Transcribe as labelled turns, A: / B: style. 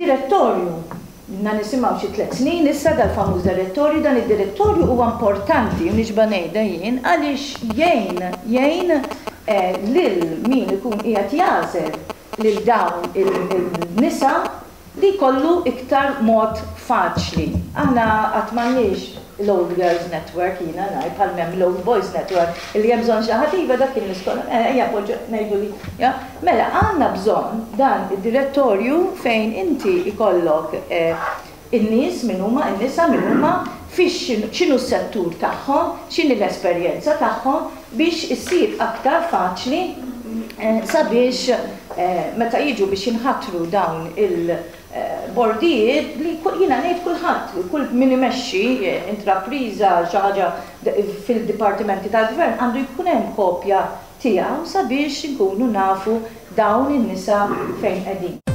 A: Direttorju, ilna nisimgħu xi tlett snin issa dal-famuż direttorju, dan id-direttorju huwa importanti u nixba' ngħidha jien għaliex jgħin, jgħin lil min ikun qiegħed jagħżel lil dawn il-nisa li jkollu iktar mod faċli. Aħna għad m'għandniex l-Old Girls Network, jiena ngħid, bħal m'hemm l-Old Boys Network, illi hemm bżonn xi ħadd, iva dak kien l-iskola, mela ejja poġġu, ngħidu li, ja. Mela għandna bżonn dan id-direttorju fejn inti jkollok in-nies min huma, in-nisa min huma, fiex x'inhu s-settur tagħhom, x'inhi l-esperjenza tagħhom biex issir aktar faċli sabiex meta jiġu biex jinħatru dawn il-bordijiet li jiena ngħid kulħadd, kull min imexxi intrapriża, xi ħaġa fil-dipartimenti tal-gvern għandu jkun hemm kopja tiegħu sabiex inkunu nafu dawn in-nisa fejn qegħdin.